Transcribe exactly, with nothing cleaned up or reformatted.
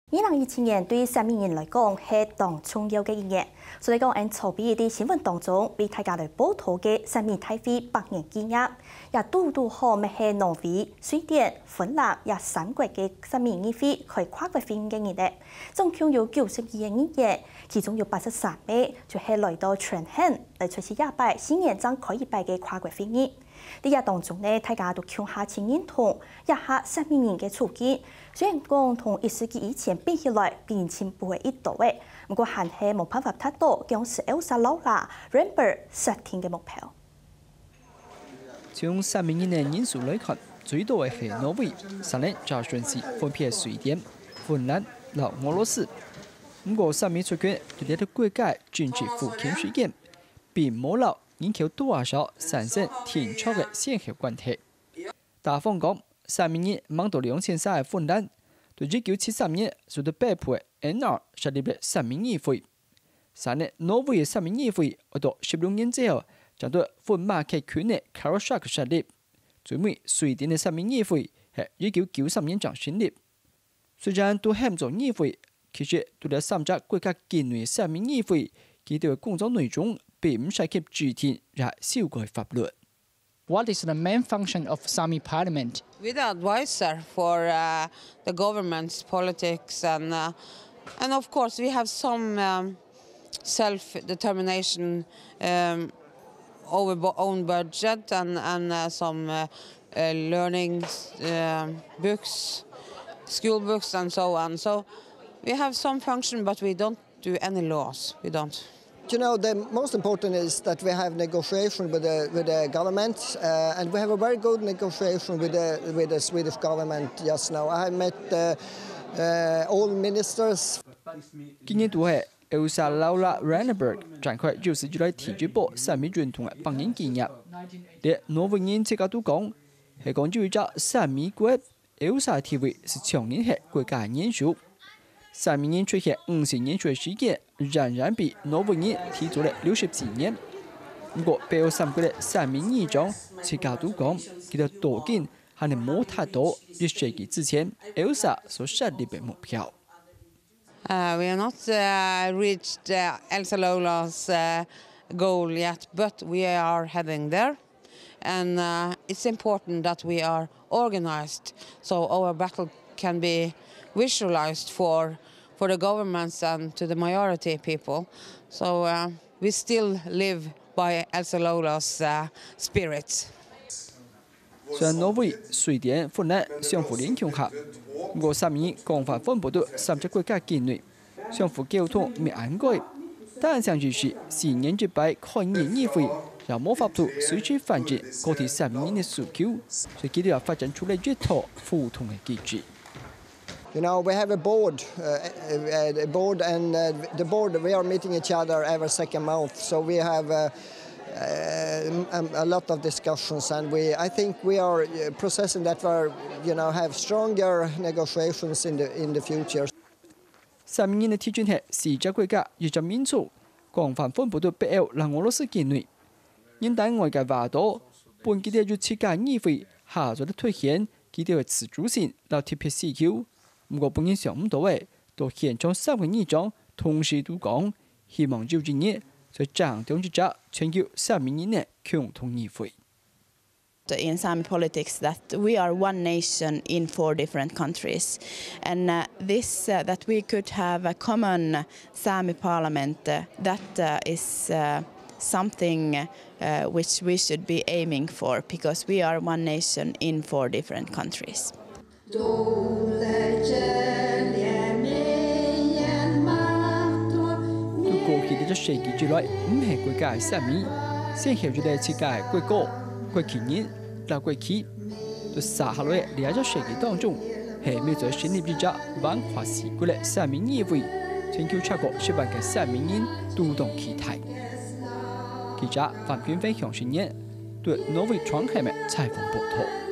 二零一七年對薩米人來講係當重要个一年，所以講，𠊎等準備在新聞當中為大家來報導个薩米大會百年紀念，也堵堵好乜係挪威、瑞典、芬蘭這三國个薩米議會開跨國會議个日仔。總共有九十二个議員，其中有八十三位就係來到全亨來出席這擺四年正開一擺个跨國會議。 在這當中呢，大家都共下盡認同這下薩米人个處境。雖然講同一世紀以前比起來，比人進步了一多仔，毋過還係無辦法達到當時Elsa Laura Reinberg設定个目標。從薩米人个人數來看，最多个係挪威，續等正順序分別係瑞典、芬蘭摎俄羅斯。毋過薩米族群對這兜國家政治復興事件，並無摎 人口多少產生定著个先後關係。打方講，薩米人吂到兩千儕个芬蘭，對一九七三年受到北部个N R設立了薩米議會。續等挪威个薩米議會，愛到十六年之後，正對芬馬克群个Karasjok設立。最尾，瑞典个薩米議會係一九九三年正成立。 雖然都喊做議會，其實除了三隻國家境內个薩米議會，佢兜个工作內容並毋涉及制定也修改法律。What is the main function of Sami Parliament? We're the advisor for uh, the government's politics, and uh, and of course we have some um, self-determination um, over bo- own budget and and uh, some uh, uh, learning uh, books, school books, and so on. So we have some function, but we don't do any laws. We don't. You know, the most important is that we have negotiation with the with the government, uh, and we have a very good negotiation with the with the Swedish government just now. I have met uh, uh, all ministers. 今年都係Elsa Laura Reinberg展開有史以來第一波薩米運動个百年紀念。連挪威人自家都講，係講有一隻薩米國，Elsa地位係長年係國家个元首。薩米人出現五十年左右个時間，遠遠比挪威人提早了六十四年。毋過，北歐三國个薩米議長自家都講，佢兜到今還係無達到一世紀之前Elsa所設立个目標。 Uh, we have not uh, reached uh, Elsa Lola's uh, goal yet, but we are heading there. And uh, it's important that we are organized so our battle can be visualized for, for the governments and to the majority people. So uh, we still live by Elsa Lola's uh, spirit. 雖然挪威、瑞典、芬蘭相互聯共下，毋過三年廣泛分布到三隻國家境內，相互溝通毋恁該。單淨只係四年一擺開議會，也無法度隨時反映各地三民个訴求，所以佢兜也發展出來一套互動个機制。 You know, we have a board, uh, a, a board, and uh, the board, we are meeting each other every second month. So we have uh, um, um, a lot of discussions, and we, I think we are uh, processing that we, you know, have stronger negotiations in the in the future. 三民个特徵係四隻國家一隻民族，廣泛分布到北歐摎俄羅斯境內。人單外个話到，分佢兜有自家議會，下做得凸顯佢兜个自主性摎特別需求。毋過分人想毋到个，到現場三國議長同時都講，希望有一日，在正中一隻全球三民个共同議會。 In Sami politics, that we are one nation in four different countries. And uh, this, uh, that we could have a common Sami parliament, uh, that uh, is uh, something uh, which we should be aiming for, because we are one nation in four different countries. 對過去个一隻世紀以來，毋係國家个三民，先後有了自家个國歌、國旗人摎國旗。在續下來个這隻世紀當中，係毋係再成立一隻橫跨四國个三民議會，全球超過十萬个三民人都當期待。記者范君飛、向新年對挪威Trondheim採訪報導。